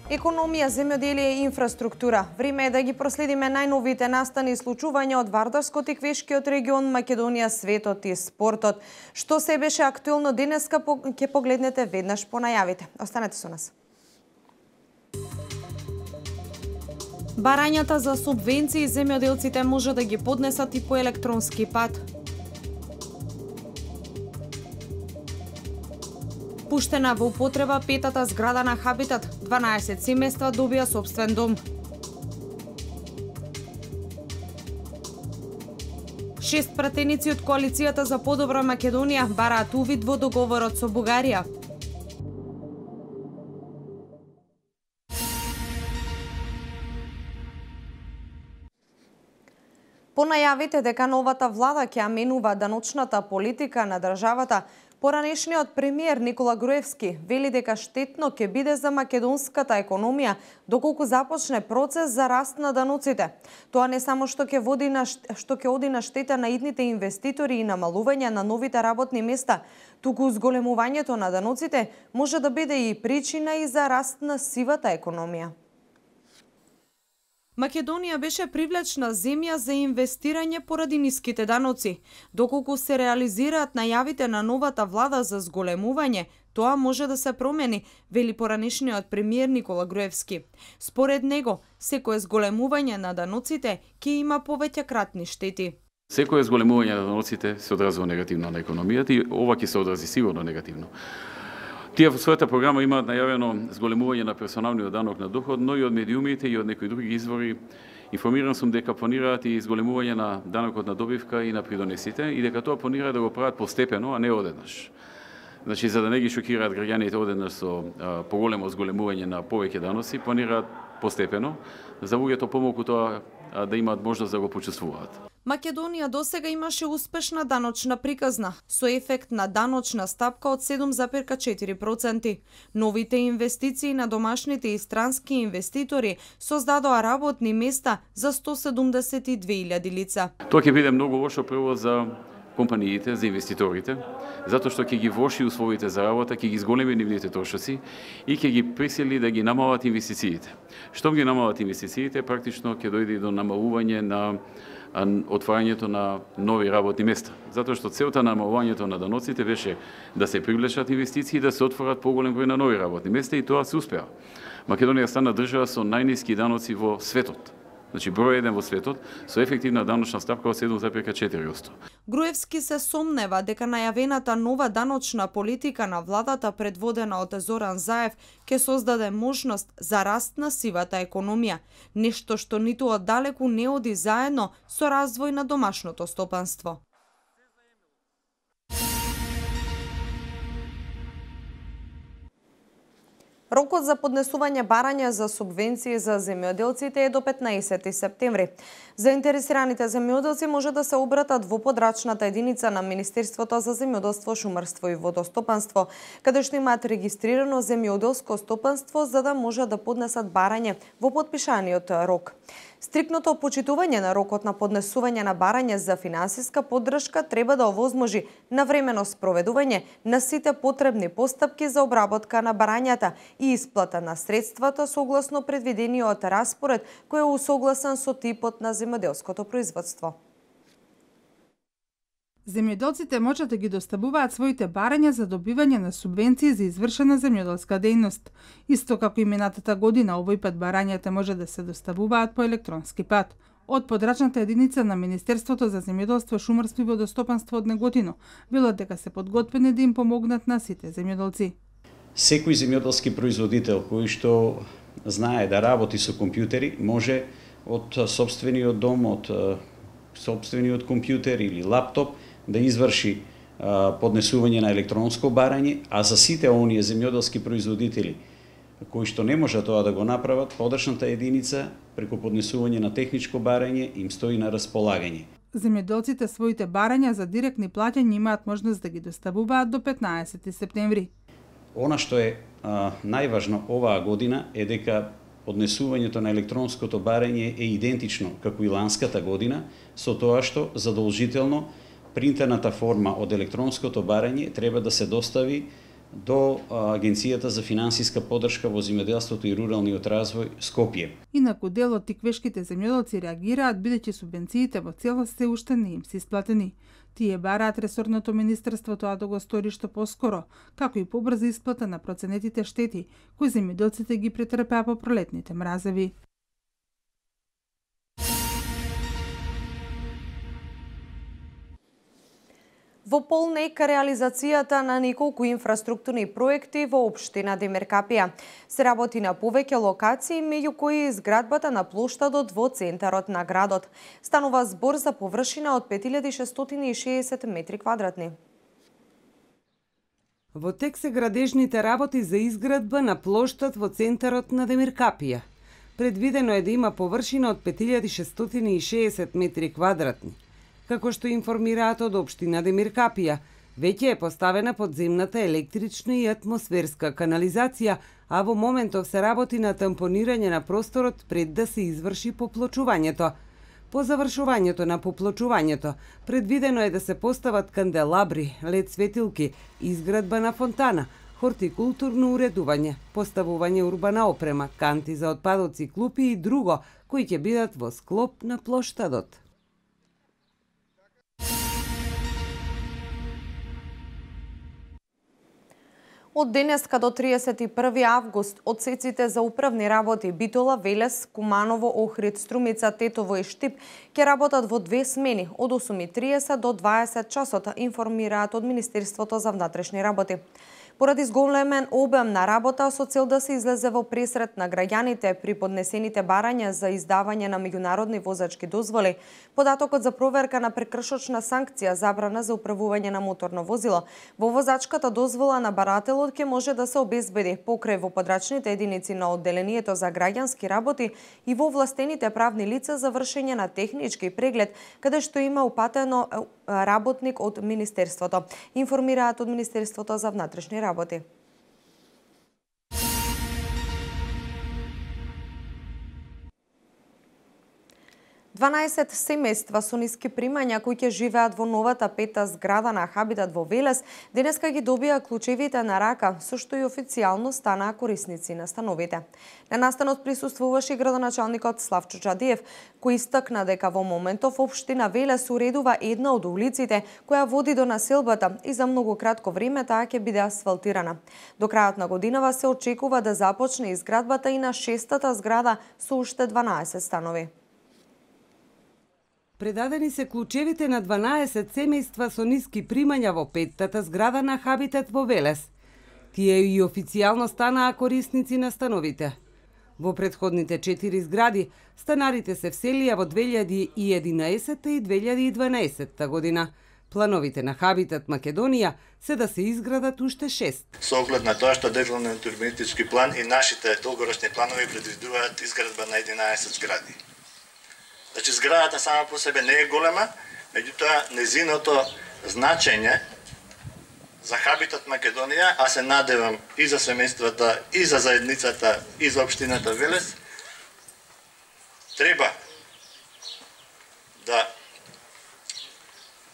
Економија, земјоделие и инфраструктура. Време е да ги проследиме најновите настани и случувања од Вардарскот и Квешкиот регион, Македонија, светот и спортот. Што се беше актуелно денеска, ќе погледнете веднаш по најавите. Останете со нас. Барањата за субвенции земјоделците може да ги поднесат и по електронски пат. Пуштена во употреба петата зграда на Хабитат, 12 семејства добија сопствен дом. 6 пратеници од коалицијата за подобра Македонија бараат увид во договорот со Бугарија. По најавите дека новата влада ќе аменува даночната политика на државата, поранешниот премиер Никола Груевски вели дека штетно ќе биде за македонската економија доколку започне процес за раст на даноците. Тоа не само што ќе оди на штета на идните инвеститори и намалување на новите работни места, туку зголемувањето на даноците може да биде и причина и за раст на сивата економија. Македонија беше привлечна земја за инвестирање поради ниските даноци. Доколку се реализираат најавите на новата влада за зголемување, тоа може да се промени, вели поранешниот премиер Никола Груевски. Според него, секое зголемување на даноците ќе има повеќе кратни штети. Секое зголемување на даноците се одразува негативно на економијата и ова ќе се одрази сигурно негативно. Тие во својата програма имаат најавено зголемување на персоналниот данок на доход, но и од медиумите и од некои други извори. Информиран сум дека планираат и зголемување на данокот на добивка и на придонесите и дека тоа планираат да го прават постепено, а не одеднаш. Значи, за да не ги шокираат граѓаните одеднаш со поголемо зголемување на повеќе даноци, планираат постепено, за луѓето помалку тоа да имаат можност да го почувствуваат. Македонија досега имаше успешна даночна приказна, со ефект на даночна стапка од 7,4%. Новите инвестиции на домашните и странски инвеститори создадоа работни места за 172.000 лица. Тоа ќе биде многу лошо прво за компаниите, за инвеститорите, затоа што ќе ги влоши условите за работа, ќе ги зголеми нивните трошоци и ќе ги присили да ги намалат инвестициите. Штом ги намалат инвестициите, практично ќе дојде до намалување на отварањето на нови работни места. Затоа што целта на намалувањето на даноците беше да се привлечат инвестиции и да се отворат поголем број на нови работни места и тоа се успеа. Македонија стана држава со најниски даноци во светот. Значи број 1 во светот со ефективна даночна стапка од 7,4%. Груевски се сомнева дека најавената нова даночна политика на владата предводена од Зоран Заев ќе создаде можност за раст на сивата економија, нешто што ниту оддалеку не оди заедно со развој на домашното стопанство. Рокот за поднесување барања за субвенции за земјоделците е до 15 септември. Заинтересираните земјоделци може да се обратат во подрачната единица на Министерството за земјоделство, шумарство и водостопанство, каде што имаат регистрирано земјоделско стопанство за да може да поднесат барање во потпишаниот рок. Стрикното почитување на рокот на поднесување на барање за финансиска поддршка треба да овозможи навремено спроведување на сите потребни постапки за обработка на барањата и исплата на средствата согласно предвидениот распоред кој е усогласен со типот на земјоделското производство. Земјоделците може да ги доставуваат своите барања за добивање на субвенции за извршена земјоделска дејност. Исто како и минатата година, овој пат барањата може да се доставуваат по електронски пат. Од подрачната единица на Министерството за земјоделство, шумарство и водостопанство од Неготино велат дека се подготвени да им помогнат на сите земјоделци. Секој земјоделски производител кој што знае да работи со компјутери може од сопствениот дом, од сопствениот компјутер или лаптоп да изврши поднесување на електронско барање, а за сите оние земјоделски производители кои што не може тоа да го направат, подрачната единица преку поднесување на техничко барање им стои на располагање. Земјоделците своите барања за директни плаќања имаат можност да ги доставуваат до 15 септември. Она што е најважно оваа година е дека поднесувањето на електронското барање е идентично како и ланската година, со тоа што задолжително принтерната форма од електронското барање треба да се достави до Агенцијата за финансиска поддршка во земјоделството и руралниот развој Скопје. Инаку дел од тиквешките земјоделци реагираат бидејќи субвенциите во целост се уште не им се исплатени. Тие бараат ресорното министерство тоа да го стори што поскоро, како и побрза исплата на проценетите штети кои земјоделците ги претрпеа по пролетните мразеви. Во полнека реализацијата на неколку инфраструктурни проекти во општина Демеркапија. Се работи на повеќе локации, меѓу кои и зградбата на плоштадот во центарот на градот. Станува збор за површина од 5660 метри квадратни. Во тек се градежните работи за изградба на плоштад во центарот на Демеркапија. Предвидено е да има површина од 5660 метри квадратни. Како што информираат од општина Демеркапија, веќе е поставена подземната електрична и атмосферска канализација, а во моментов се работи на тампонирање на просторот пред да се изврши поплочувањето. По завршувањето на поплочувањето, предвидено е да се постават канделабри, лед светилки, изградба на фонтана, хортикултурно уредување, поставување урбана опрема, канти за отпадоци, клупи и друго, кои ќе бидат во склоп на плоштадот. Од денеска до 31 август одсеците за управни работи Битола, Велес, Куманово, Охрид, Струмица, Тетово и Штип ќе работат во 2 смени од 8:30 до 20 часот, информираат од Министерството за внатрешни работи. Поради зголемен обем на работа со цел да се излезе во пресрет на граѓаните при поднесените барања за издавање на меѓународни возачки дозволи, податокот за проверка на прекршочна санкција забрана за управување на моторно возило во возачката дозвола на барателот ќе може да се обезбеди покрај во подрачните единици на одделението за граѓански работи и во овластените правни лица за вршење на технички преглед, каде што има упатено работник од Министерството, информираат од Министерството за внатрешни работи. Дванаесет семејства со ниски примања кои ќе живеат во новата 5-та зграда на Хабитат во Велес, денеска ги добија клучевите на рака, со што и официјално станаа корисници на становите. На настанот присуствуваше градоначалникот Славчо Чадиев, кој истакна дека во моментов општина Велес уредува една од улиците која води до населбата и за многу кратко време таа ќе биде асфалтирана. До крајот на годинава се очекува да започне изградбата и на 6-та зграда со уште 12 станови. Предадени се клучевите на 12 семејства со ниски примања во 5-тата зграда на Хабитат во Велес. Тие и официјално станаа корисници на становите. Во претходните 4 згради, станарите се вселија во 2011 и 2012 година. Плановите на Хабитат Македонија се да се изградат уште 6. Со оглед на тоа што државниот урбанистички план и нашите долгорочни планови предвидуваат изградба на 11 згради. Значи, зградата сама по себе не е голема, меѓутоа незиното значење за Хабитат Македонија, а се надевам и за семејствата, и за заедницата, и за општината Велес, треба да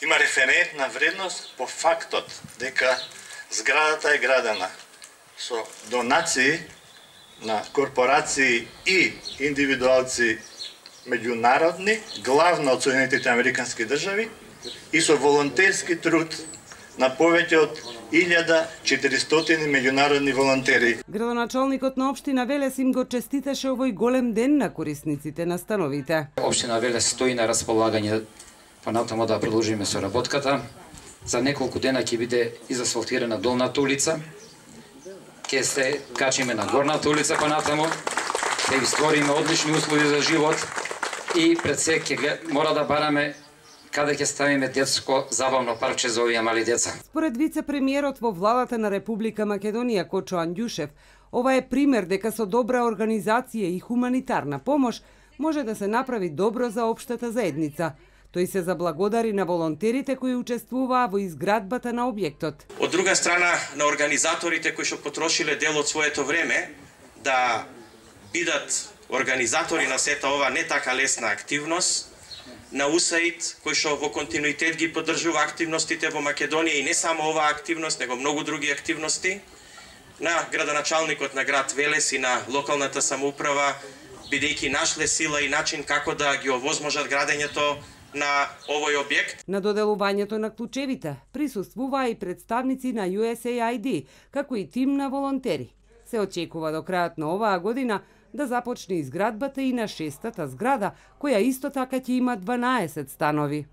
има референтна вредност по фактот дека зградата е градена со донации на корпорации и индивидуалци меѓународни, главно од Соединетите Американски држави, и со волонтерски труд на повеќе од 1400 меѓународни волонтери. Градоначалникот на општина Велес им го честиташе овој голем ден на корисниците на становите. Општина Велес стои на располагање понатаму да продолжиме со работката. За неколку дена ќе биде изасфалтирана долната улица. Ќе се качиме на горната улица понатаму. Ќе ги створиме одлични услови за живот. И пред се мора да бараме каде ќе ставиме детско забавно парче за овие мали деца. Според вице-премиерот во владата на Република Македонија Кочо Андјушев, Ова е пример дека со добра организација и хуманитарна помош може да се направи добро за општата заедница. Тој се заблагодари на волонтерите кои учествуваа во изградбата на објектот. Од друга страна, на организаторите кои што потрошиле дел од своето време да бидат организатори на сета ова не така лесна активност, на УСАИД кој што во континуитет ги поддржува активностите во Македонија и не само оваа активност, него многу други активности, на градоначалникот на град Велес и на локалната самоуправа, бидејќи нашле сила и начин како да ги овозможат градењето на овој објект. На доделувањето на клучевите присуствуваа и представници на USAID, како и тим на волонтери. Се очекува до крајот на оваа година да започне изградбата и на 6-та зграда, која исто така ќе има 12 станови.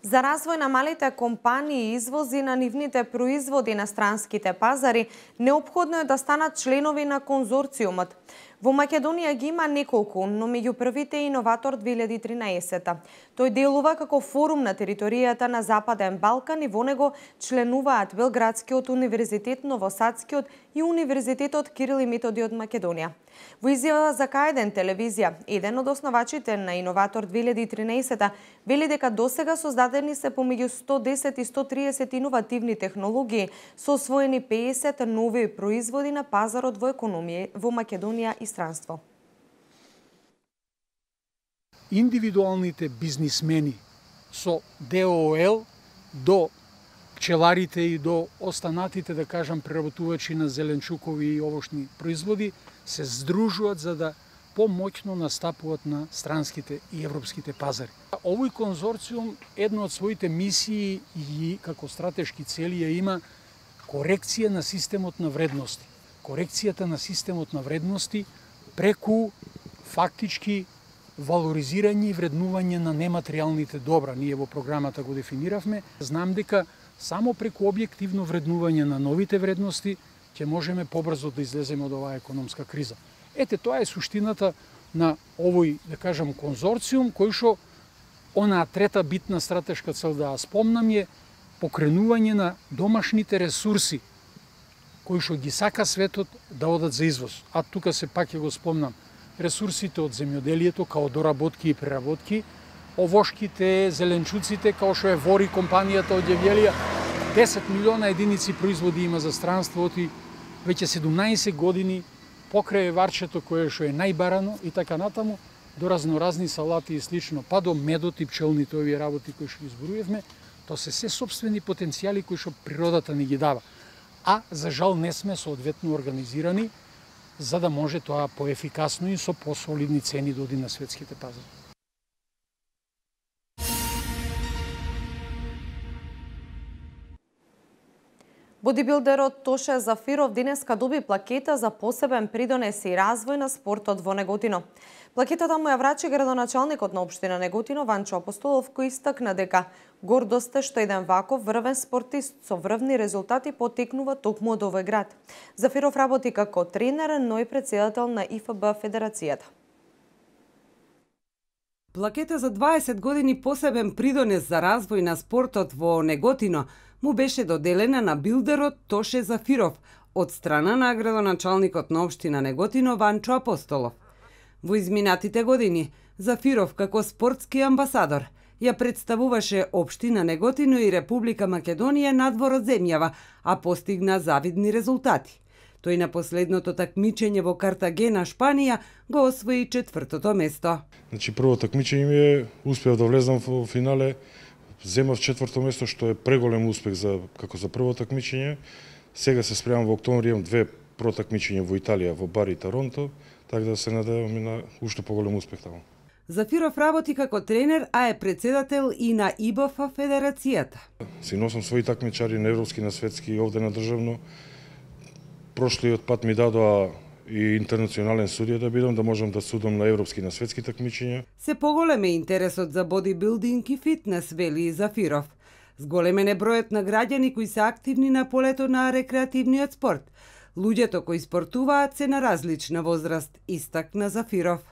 За развој на малите компании и извози на нивните производи на странските пазари, неопходно е да станат членови на конзорциумот. Во Македонија ги има неколку, но меѓу првите е Иноватор 2013. Тој делува како форум на територијата на Западен Балкан и во него членуваат Белградскиот универзитет, Новосадскиот и Универзитетот Кирил и Методи од Македонија. Во изјава за К1 телевизија, еден од основачите на Иноватор 2013 вели дека досега создадени се помеѓу 110 и 130 иновативни технологии, со освоени 50 нови производи на пазарот во економија во Македонија и странство. Индивидуалните бизнисмени со ДООЛ до пчеларите и до останатите, да кажам, преработувачи на зеленчукови и овошни производи се здружуваат за да помоќно настапуваат на странските и европските пазари. Овој конзорциум едно од своите мисии и како стратешки цели ја има корекција на системот на вредности. Корекцијата на системот на вредности преку фактички валоризирање и вреднување на нематеријалните добра. Ние во програмата го дефиниравме. Знам дека само преку објективно вреднување на новите вредности ќе можеме побрзо да излеземе од оваа економска криза. Ете, тоа е суштината на овој, да кажам, конзорциум, кој што онаа трета битна стратешка цел да ја спомнам е покренување на домашните ресурси кои што ги сака светот да одат за извоз. А тука се пак ќе го спомнам ресурсите од земјоделието, као доработки и преработки, овошките, зеленчуците, као што е Вори компанијата од Јевјелија, 10 милиона единици производи има за странството и веќе 17 години покрај варчето кое што е најбарано и така натаму, до разноразни салати и слично, па до медот и пчелните овие работи кои што ги избројавме, тоа се сопствени потенцијали кои што природата ни ги дава. А за жал не сме соодветно организирани за да може тоа поефикасно и со посолидни цени да оди на светските пазари. Бодибилдерот Тоше Зафиров денеска доби плакета за посебен придонес и развој на спортот во Неготино. Плакетата му ја врачи градоначалникот на општина Неготино Ванчо Апостолов, кој истакна дека гордост е што еден ваков врвен спортист со врвни резултати потекнува токму од овој град. Зафиров работи како тренер, но и претседател на ИФБ Федерацијата. Плакета за 20 години посебен придонес за развој на спортот во Неготино му беше доделена на билдерот Тоше Зафиров од страна на градоначалникот на општина Неготино Ванчо Апостолов. Во изминатите години Зафиров како спортски амбасадор ја представуваше општина Неготино и Република Македонија надвор од земјава, а постигна завидни резултати. Тој на последното такмичење во Картагена, Шпанија, го освои 4-то место. Значи прво такмичење ми е успеав да влезам во финале, земав 4-то место, што е преголем успех како за прво такмичење. Сега се спремам во октомври, имам 2 протакмичења во Италија, во Бари и Торонто, така да се надевам на уште поголем успех таму. Зафиров работи како тренер, а е претседател и на ИБФ Федерацијата. Си носам своји такмичари на европски, на светски и овде на државно. Прошлиот пат ми дадоа и интернационален судија да бидам, да можам да судам на европски и на светски такмичења. Се поголем е интересот за бодибилдинг и фитнес, вели Зафиров. Зголемен е бројот на граѓани кои се активни на полето на рекреативниот спорт. Луѓето кои спортуваат се на различна возраст, истакна Зафиров.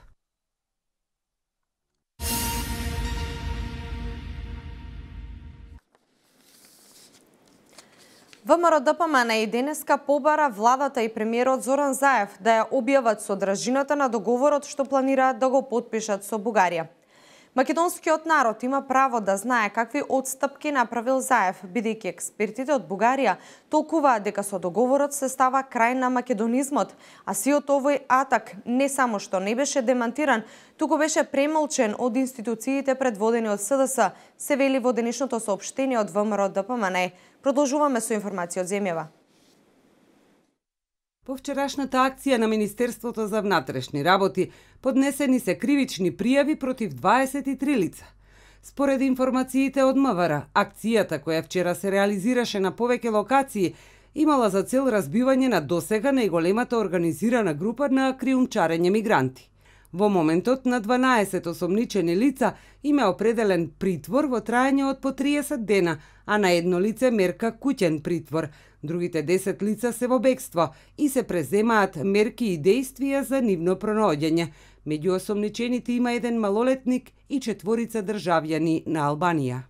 ВМРО ДПМН и денеска побара владата и премиерот Зоран Заев да ја објават содржината на договорот што планираат да го потпишат со Бугарија. Македонскиот народ има право да знае какви отстапки направил Заев, бидејќи експертите од Бугарија толкуваат дека со договорот се става крај на македонизмот, а сиот овој атак не само што не беше демантиран, туку беше премолчен од институциите предводени од СДС, се вели во денешното соопштение од ВМРО ДПМН. Продолжуваме со информација од земјава. По вчерашната акција на Министерството за внатрешни работи поднесени се кривични пријави против 23 лица. Според информациите од МВР, акцијата која вчера се реализираше на повеќе локации имала за цел разбивање на досега најголемата организирана група на криумчарење мигранти. Во моментот на 12 осомничени лица има определен притвор во траење од по 30 дена, а на едно лице мерка куќен притвор. Другите 10 лица се во бегство и се преземаат мерки и действија за нивно пронаоѓање. Меѓу осомничените има еден малолетник и 4 државјани на Албанија.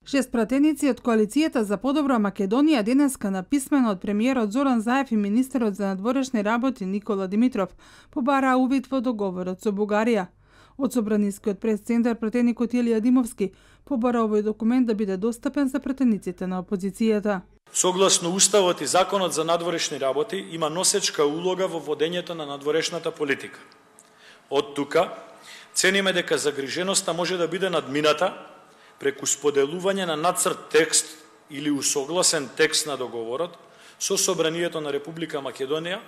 Шест пратеници од коалицијата за подобра Македонија денеска на писмено од премиерот Зоран Заев и министерот за надворешни работи Никола Димитров побараа увид во договорот со Бугарија. Од Собранискиот прес-центар пратеникот Илија Димовски побара овој документ да биде достапен за пратениците на опозицијата. Согласно Уставот и Законот за надворешни работи има носечка улога во водењето на надворешната политика. Од тука цениме дека загриженоста може да биде надмината преку споделување на нацрт текст или усогласен текст на договорот со Собранието на Република Македонија,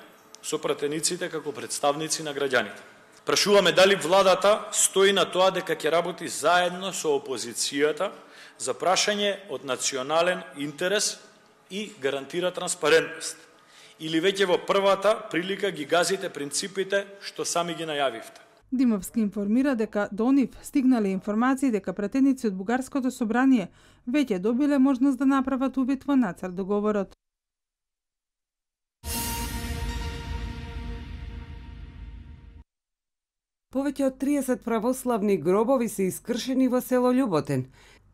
со пратениците како представници на граѓаните. Прашуваме дали владата стои на тоа дека ќе работи заедно со опозицијата за прашање од национален интерес и гарантира транспарентност. Или веќе во првата прилика ги газите принципите што сами ги најавивте. Димовски информира дека до нив стигнале информации дека пратеници од Бугарското собрание веќе добиле можност да направат увид во нацрт договорот. Повеќе од 30 православни гробови се искршени во село Љуботен.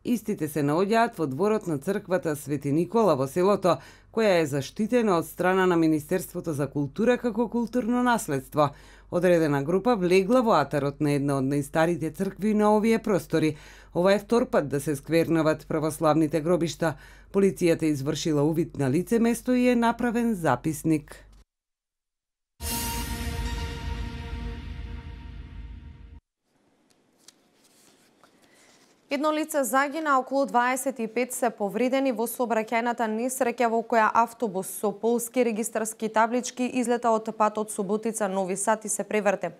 Истите се наоѓаат во дворот на црквата Свети Никола во селото, која е заштитена од страна на Министерството за култура како културно наследство. Одредена група влегла во атарот на една од најстарите цркви на овие простори. Ова е втор пат да се сквернават православните гробишта. Полицијата извршила увид на лице место и е направен записник. Едно лице загина, околу 25 се повредени во сообраќајната несреќа во која автобус со полски регистарски таблички излета од патот Суботица Нови Сад и се преврте.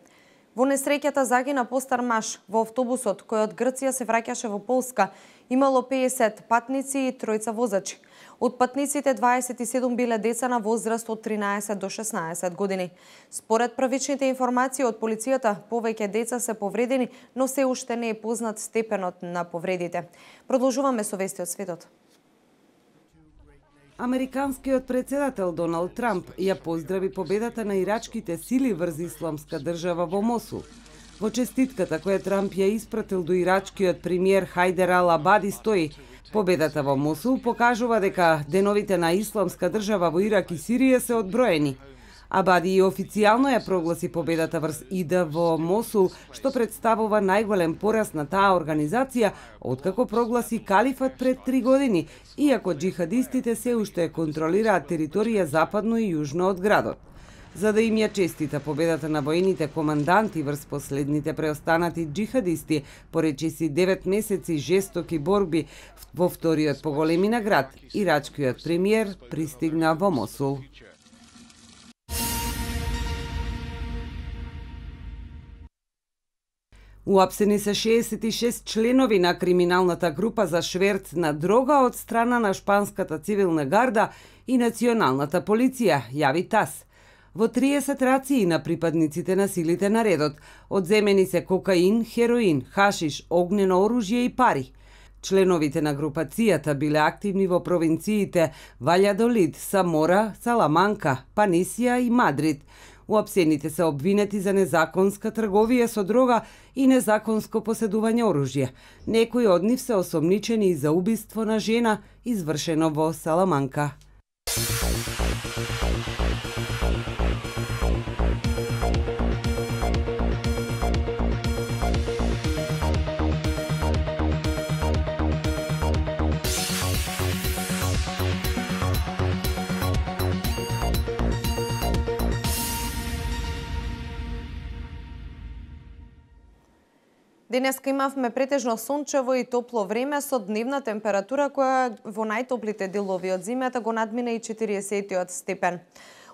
Во несреќата загина постар маж. Во автобусот кој од Грција се враќаше во Полска имало 50 патници и 3 возачи. Од патниците 27 биле деца на возраст од 13 до 16 години. Според првичните информации од полицијата, повеќе деца се повредени, но се уште не е познат степенот на повредите. Продолжуваме со вести од светот. Американскиот председател Доналд Трамп ја поздрави победата на ирачките сили врз Исламска држава во Мосул. Во честитката која Трамп ја испратил до ирачкиот премиер Хајдер Ал-Абади стои: победата во Мосул покажува дека деновите на Исламска држава во Ирак и Сирија се одброени. Абади и официјално ја прогласи победата врз ИД во Мосул, што представува најголем пораз на таа организација откако прогласи калифат пред 3 години, иако џихадистите се уште контролираат територија западно и јужно од градот. За да им ја честита победата на воените команданти врз последните преостанати џихадисти, поречи си 9 месеци жестоки борби во вториот по големина град, ирачкиот премиер пристигна во Мосул. Уапсени се 66 членови на криминалната група за шверц на дрога од страна на шпанската цивилна гарда и националната полиција, јави ТАС. Во 30 рации на припадниците на силите на редот одземени се кокаин, хероин, хашиш, огнено оружје и пари. Членовите на групацијата биле активни во провинциите Ваљадолид, Самора, Саламанка, Панисија и Мадрид. Уапсените се обвинети за незаконска трговија со дрога и незаконско поседување оружје. Некои од нив се осомничени и за убиство на жена, извршено во Саламанка. Денеска имавме претежно сончево и топло време со дневна температура која во најтоплите делови од зимата го надмина и 40 степен.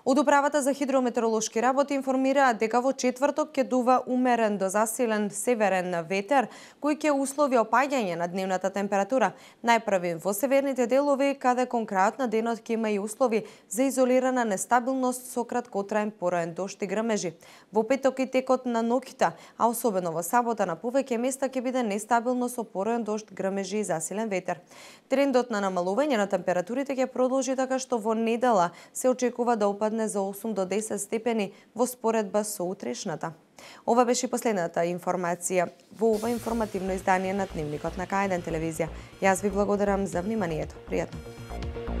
Од Управата за хидрометеоролошки работи информираат дека во четврток ќе дува умерен до засилен северен ветер, кој ќе услови опаѓање на дневната температура, најпрви во северните делови, каде кон крајот на денот ќе има и услови за изолирана нестабилност со краткотраен пороен дожд и грмежи. Во петок и текот на ноќта, а особено во сабота на повеќе места ќе биде нестабилно со пороен дожд, грмежи и засилен ветер. Трендот на намалување на температурите ќе продолжи, така што во недела се очекува да опадне за 8 до 10 степени во споредба со утрешната. Ова беше последната информација во ова информативно издание на Дневникот на К1 телевизија. Јас ви благодарам за вниманието. Пријатно.